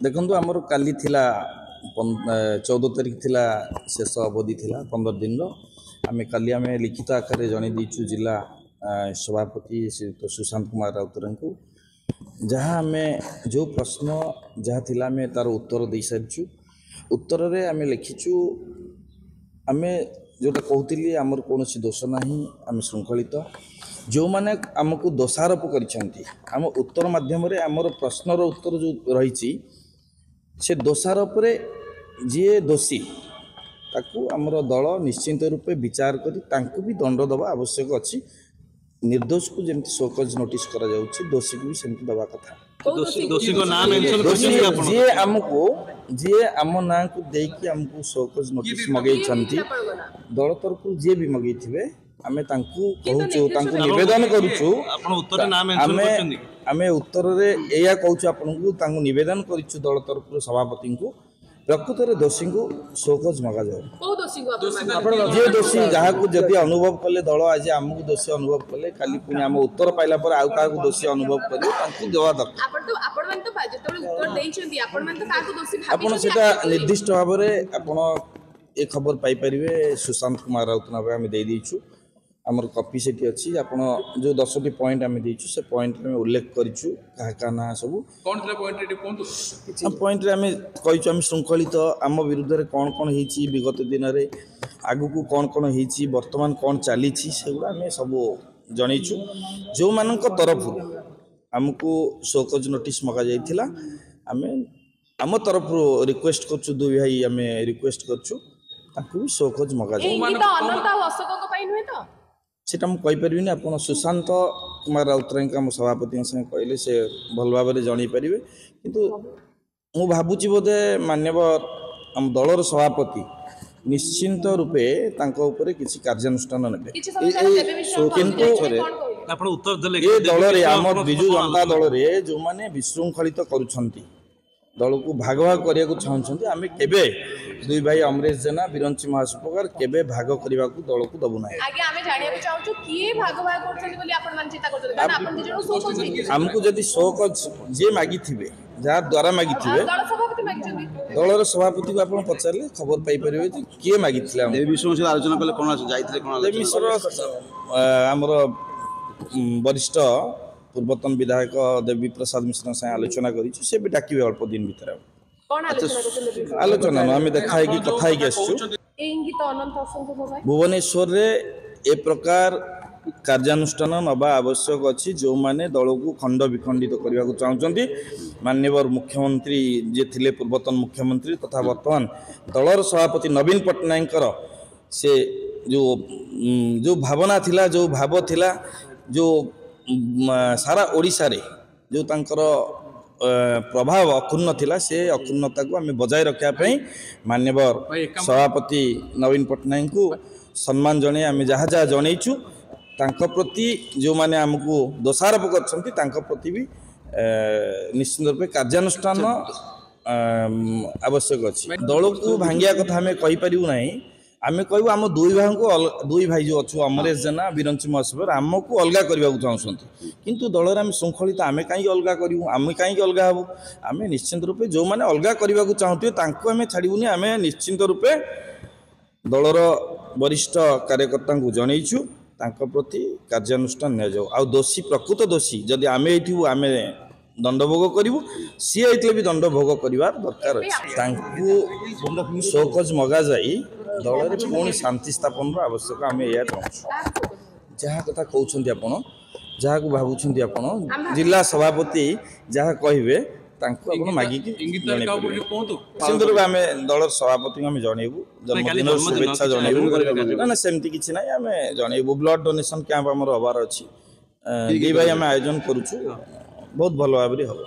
ଦେଖନ୍ତୁ, ଆମର କାଲି ଥିଲା 14 ତାରିଖ ଥିଲା, ଶେଷ ଅବଧି ଥିଲା 15 ଦିନର। ଆମେ କାଲି ଆମେ ଲିଖିତ ଆକାରରେ ଜଣାଇ ଦେଇଛୁ ଜିଲ୍ଲା ସଭାପତି ଶ୍ରୀଯୁକ୍ତ ସୁଶାନ୍ତ କୁମାର ରାଉତରାୟଙ୍କୁ। ଯାହା ଆମେ ଯେଉଁ ପ୍ରଶ୍ନ ଯାହା ଥିଲା, ଆମେ ତା'ର ଉତ୍ତର ଦେଇସାରିଛୁ। ଉତ୍ତରରେ ଆମେ ଲେଖିଛୁ, ଆମେ ଯେଉଁଟା କହୁଥିଲି, ଆମର କୌଣସି ଦୋଷ ନାହିଁ, ଆମେ ଶୃଙ୍ଖଳିତ। ଯେଉଁମାନେ ଆମକୁ ଦୋଷାରୋପ କରିଛନ୍ତି, ଆମ ଉତ୍ତର ମାଧ୍ୟମରେ ଆମର ପ୍ରଶ୍ନର ଉତ୍ତର ଯେଉଁ ରହିଛି, ସେ ଦୋଷାରୋପରେ ଯିଏ ଦୋଷୀ ତାକୁ ଆମର ଦଳ ନିଶ୍ଚିନ୍ତ ରୂପେ ବିଚାର କରି ତାଙ୍କୁ ବି ଦଣ୍ଡ ଦେବା ଆବଶ୍ୟକ ଅଛି। ନିର୍ଦ୍ଦୋଷକୁ ଯେମିତି ସୋକଜ୍ ନୋଟିସ୍ କରାଯାଉଛି, ଦୋଷୀକୁ ବି ସେମିତି ଦେବା କଥା। ଦୋଷୀଙ୍କ ନାଁ ମେନସନ ଦୋଷୀ କରିଛନ୍ତି ଆପଣ? ଯିଏ ଆମକୁ, ଯିଏ ଆମ ନାଁକୁ ଦେଇକି ଆମକୁ ସୋକଜ୍ ନୋଟିସ୍ ମଗେଇଛନ୍ତି, ଦଳ ତରଫରୁ ଯିଏ ବି ମଗେଇଥିବେ, ଆମେ ତାଙ୍କୁ କହୁଛୁ, ତାଙ୍କୁ ନିବେଦନ କରୁଛୁ। ଆପଣ ଉତ୍ତରରେ ନାଁ ମେନସନ ଆମେ କରିଛନ୍ତି? ଆମେ ଉତ୍ତରରେ ଏଇଆ କହୁଛୁ ଆପଣଙ୍କୁ, ତାଙ୍କୁ ନିବେଦନ କରିଛୁ ଦଳ ତରଫରୁ ସଭାପତିଙ୍କୁ, ପ୍ରକୃତରେ ଦୋଷୀଙ୍କୁ ସୋକଜ୍ ମଗାଯାଉ। କୋଉ ଦୋଷୀଙ୍କୁ ଆପଣ? ଯିଏ ଦୋଷୀ, ଯାହାକୁ ଯଦି ଅନୁଭବ କଲେ ଦଳ, ଆଜି ଆମକୁ ଦୋଷୀ ଅନୁଭବ କଲେ, କାଲି ପୁଣି ଆମ ଉତ୍ତର ପାଇଲା ପରେ ଆଉ କାହାକୁ ଦୋଷୀ ଅନୁଭବ କରିବେ, ତାଙ୍କୁ ଦେବା ଦରକାର। ଆପଣ ତ, ଆପଣମାନେ ତ ଯେତେବେଳେ ଉତ୍ତର ଦେଇଛନ୍ତି, ଆପଣମାନେ ତ କାହାକୁ ଦୋଷୀ ଆପଣ ଭାବିଛନ୍ତି ସେଟା accept କରିବେ। ନିର୍ଦ୍ଦିଷ୍ଟ ଭାବରେ ଆପଣ ଏ ଖବର ପାଇପାରିବେ। ସୁଶାନ୍ତ କୁମାର ରାଉତ ନାମରେ ଆମେ ଦେଇଦେଇଛୁ, ଆମର କପି ସେଠି ଅଛି। ଆପଣ ଯେଉଁ 10ଟି ପଏଣ୍ଟ ଆମେ ଦେଇଛୁ, ସେ ପଏଣ୍ଟରେ ଆମେ ଉଲ୍ଲେଖ କରିଛୁ କାହା କାହା ନାଁ ସବୁ। କ'ଣ ଥିଲା ପଏଣ୍ଟ, ଟିକେ କୁହନ୍ତୁ। ପଏଣ୍ଟରେ ଆମେ କହିଛୁ ଆମେ ଶୃଙ୍ଖଳିତ, ଆମ ବିରୁଦ୍ଧରେ କ'ଣ କ'ଣ ହେଇଛି ବିଗତ ଦିନରେ, ଆଗକୁ କ'ଣ କ'ଣ ହେଇଛି, ବର୍ତ୍ତମାନ କ'ଣ ଚାଲିଛି, ସେଗୁଡ଼ା ଆମେ ସବୁ ଜଣେଇଛୁ। ଯେଉଁମାନଙ୍କ ତରଫରୁ ଆମକୁ ସୋକଜ୍ ନୋଟିସ୍ ମଗାଯାଇଥିଲା, ଆମେ ଆମ ତରଫରୁ ରିକ୍ୱେଷ୍ଟ କରୁଛୁ, ଦୁଇ ଭାଇ ଆମେ ରିକ୍ୱେଷ୍ଟ କରୁଛୁ ତାଙ୍କୁ ବି ସୋକଜ୍ ଏ ମଗାଯାଉ। ଇଙ୍ଗିତ ଅନନ୍ତ ଆଉ ଅଶୋକଙ୍କ ପାଇଁ ନୁହେଁ ତ? ସେଟା ମୁଁ କହିପାରିବିନି। ଆପଣ ସୁଶାନ୍ତ କୁମାର ରାଉତରାୟଙ୍କ, ଆମ ସଭାପତିଙ୍କ ସାଙ୍ଗେ କହିଲେ ସେ ଭଲ ଭାବରେ ଜଣାଇ ପାରିବେ। କିନ୍ତୁ ମୁଁ ଭାବୁଛି ବୋଧେ ମାନ୍ୟବର ଆମ ଦଳର ସଭାପତି ନିଶ୍ଚିନ୍ତ ରୂପେ ତାଙ୍କ ଉପରେ କିଛି କାର୍ଯ୍ୟାନୁଷ୍ଠାନ ନେବେ। କିଛି ସମୟ ତଳେ ଦେବୀ ମିଶ୍ର କିନ୍ତୁ ଯାଇଥିଲେ, କ'ଣ କହିଲେ? ଆପଣ ଉତ୍ତର ଦେଲେ, ଏ ଦଳରେ, ଆମ ଆପଣ ବିଜୁ କଣ ଜନତା ଆଲୋଚନା? ଦଳରେ ଯେଉଁମାନେ ବିଶୃଙ୍ଖଳିତ କରୁଛନ୍ତି, ଦଳକୁ ଭାଗ ଭାଗ କରିବାକୁ ଚାହୁଁଛନ୍ତି, ଆମେ କେବେ ଦୁଇ ଭାଇ ଅମରେଶ ଜେନା, ବିରଞ୍ଚି ମହାସୁପକାର କେବେ ଭାଗ କରିବାକୁ ଦଳକୁ ଦେବୁ ନାହିଁ। ଆଜ୍ଞା, ଆମେ ଜାଣିବାକୁ ଚାହୁଁଛୁ କିଏ ଭାଗ ଭାଗ କରୁଛନ୍ତି ବୋଲି ଆପଣ ମାନେ ଚିନ୍ତା କରୁଛନ୍ତି? କାରଣ ଆପଣ ଦି ଜଣ ଶୋ କରୁଛନ୍ତି। ଆମକୁ ଯଦି ସୋକଜ୍ ଯିଏ ମାଗିଥିବେ, ଯାହା ଦ୍ୱାରା ମାଗିଥିବେ, ଦଳ ସଭାପତି ମାଗିଛନ୍ତି। ଦଳର ସଭାପତିକୁ ଆପଣ ପଚାରିଲେ ଖବର ପାଇପାରିବେ ଯେ କିଏ ମାଗିଥିଲେ ଆମକୁ। ଦେବୀ ମିଶ୍ରଙ୍କ ସହିତ ଆଲୋଚନା କଲେ କ'ଣ ଯାଇଥିଲେ, କ'ଣ ଦେବୀ ମିଶ୍ର, ଆମର ବରିଷ୍ଠ ପୂର୍ବତନ ବିଧାୟକ ଦେବୀ ପ୍ରସାଦ ମିଶ୍ରଙ୍କ ସାଙ୍ଗେ ଆଲୋଚନା କରିଛୁ। ସେ ବି ଡାକିବେ ଅଳ୍ପ ଦିନ ଭିତରେ। କ'ଣ ଆଲୋଚନା କରୁଛନ୍ତି ଦେବୀ ମିଶ୍ର? ଆଲୋଚନା ନୁହଁ, ଆମେ ଦେଖା ହେଇକି କଥା ହେଇକି ଆସିଛୁ। ଏ ଇଙ୍ଗିତ ଅନନ୍ତ ଅଶୋକଙ୍କ ପାଇଁ? ଭୁବନେଶ୍ୱରରେ ଏ ପ୍ରକାର କାର୍ଯ୍ୟାନୁଷ୍ଠାନ ନେବା ଆବଶ୍ୟକ ଅଛି, ଯେଉଁମାନେ ଦଳକୁ ଖଣ୍ଡ ବିଖଣ୍ଡିତ କରିବାକୁ ଚାହୁଁଛନ୍ତି। ମାନ୍ୟବର ମୁଖ୍ୟମନ୍ତ୍ରୀ ଯିଏ ଥିଲେ, ପୂର୍ବତନ ମୁଖ୍ୟମନ୍ତ୍ରୀ ତଥା ବର୍ତ୍ତମାନ ଦଳର ସଭାପତି ନବୀନ ପଟ୍ଟନାୟକଙ୍କର ସେ ଯେଉଁ ଭାବନା ଥିଲା, ଯେଉଁ ଭାବ ଥିଲା, ଯେଉଁ ସାରା ଓଡ଼ିଶାରେ ଯେଉଁ ତାଙ୍କର ପ୍ରଭାବ ଅକ୍ଷୁଣ୍ଣ ଥିଲା, ସେ ଅକ୍ଷୁଣ୍ଣତାକୁ ଆମେ ବଜାୟ ରଖିବା ପାଇଁ ମାନ୍ୟବର ସଭାପତି ନବୀନ ପଟ୍ଟନାୟକଙ୍କୁ ସମ୍ମାନ ଜଣାଇ ଆମେ ଯାହା ଯାହା ଜଣେଇଛୁ, ତାଙ୍କ ପ୍ରତି ଯେଉଁମାନେ ଆମକୁ ଦୋଷାରୋପ କରିଛନ୍ତି, ତାଙ୍କ ପ୍ରତି ବି ନିଶ୍ଚିନ୍ତ ରୂପେ କାର୍ଯ୍ୟାନୁଷ୍ଠାନ ଆବଶ୍ୟକ ଅଛି। ଦଳକୁ ଭାଙ୍ଗିବା କଥା ଆମେ କହିପାରିବୁ ନାହିଁ। ଆମେ କହିବୁ ଆମ ଦୁଇ ଭାଇଙ୍କୁ, ଦୁଇ ଭାଇ ଯେଉଁ ଅଛୁ, ଅମରେଶ ଜେନା, ବିରଞ୍ଚି ମହାସୁପକାର, ଆମକୁ ଅଲଗା କରିବାକୁ ଚାହୁଁଛନ୍ତି। କିନ୍ତୁ ଦଳରେ ଆମେ ଶୃଙ୍ଖଳିତ, ଆମେ କାହିଁକି ଅଲଗା କରିବୁ? ଆମେ କାହିଁକି ଅଲଗା ହେବୁ? ଆମେ ନିଶ୍ଚିନ୍ତ ରୂପେ ଯେଉଁମାନେ ଅଲଗା କରିବାକୁ ଚାହୁଁଥିବେ ତାଙ୍କୁ ଆମେ ଛାଡ଼ିବୁନି। ଆମେ ନିଶ୍ଚିନ୍ତ ରୂପେ ଦଳର ବରିଷ୍ଠ କାର୍ଯ୍ୟକର୍ତ୍ତାଙ୍କୁ ଜଣେଇଛୁ, ତାଙ୍କ ପ୍ରତି କାର୍ଯ୍ୟାନୁଷ୍ଠାନ ନିଆଯାଉ। ଆଉ ଦୋଷୀ, ପ୍ରକୃତ ଦୋଷୀ ଯଦି ଆମେ ହେଇଥିବୁ, ଆମେ ଦଣ୍ଡ ଭୋଗ କରିବୁ। ସିଏ ହେଇଥିଲେ ବି ଦଣ୍ଡ ଭୋଗ କରିବାର ଦରକାର ଅଛି। ତାଙ୍କୁ ସୋକଜ୍ ମଗାଯାଇ ଦଳରେ ପୁଣି ଶାନ୍ତି ସ୍ଥାପନର ଆବଶ୍ୟକ, ଆମେ ଏଇଆ ଚାହୁଁଛୁ। ଯାହା କଥା କହୁଛନ୍ତି ଆପଣ, ଯାହାକୁ ଭାବୁଛନ୍ତି ଆପଣ, ଜିଲ୍ଲା ସଭାପତି ଯାହା କହିବେ, ତାଙ୍କୁ ଆପଣ ମାଗିକି ଇଙ୍ଗିତରେ ଜଣେଇ କାହା ଉପରେ ପାରିବେ। ଟିକେ କୁହନ୍ତୁ। ନିଶ୍ଚିନ୍ତ ରୂପେ ଆମେ ଦଳର ସଭାପତିଙ୍କୁ ଆମେ ଜଣେଇବୁ, କାଲି ଜନ୍ମଦିନର ଜନ୍ମଦିନ, ଶୁଭେଚ୍ଛା କିଛି ଜଣେଇବୁ। ଆୟୋଜନ କରିବେ? ନା ନା, ସେମିତି କିଛି ନାହିଁ, ଆମେ ଜଣେଇବୁ। ବ୍ଲଡ୍ ଡୋନେସନ୍ କ୍ୟାମ୍ପ ଆମର ହେବାର ଅଛି, ଦି ଭାଇ ଆମେ ଆୟୋଜନ କରୁଛୁ, ବହୁତ ଭଲ ଭାବରେ ହେବ।